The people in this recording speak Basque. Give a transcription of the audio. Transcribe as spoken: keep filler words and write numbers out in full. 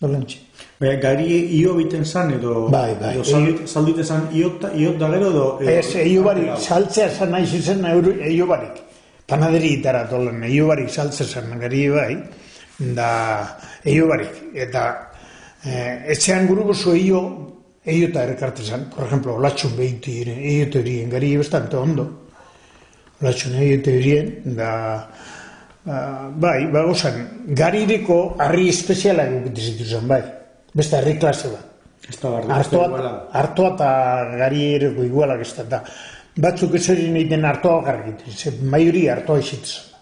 Dolantxe. Baina, gari io biten zan, edo... Bai, bai. Zaldite zan iot da gero, edo... Ez, eio barik, saltzea zan nahi zizen eio barik. Panaderi itara tolen, eio barik saltzea zan gari bai, da eio barik. Eta etxean guruko zu eio, eio eta errekarte zan. Por ejemplo, olatxun behiti eio teorien, gari bastante ondo. Olatxun eio teorien, da... Bai, ba, osan, garireko harri espeziala egokite zituzan, bai. Beste harri klase bat. Artoa eta garireko igualak ez da. Batzuk ez hori nahi den artoa garrikiten, maioria artoa izitzen.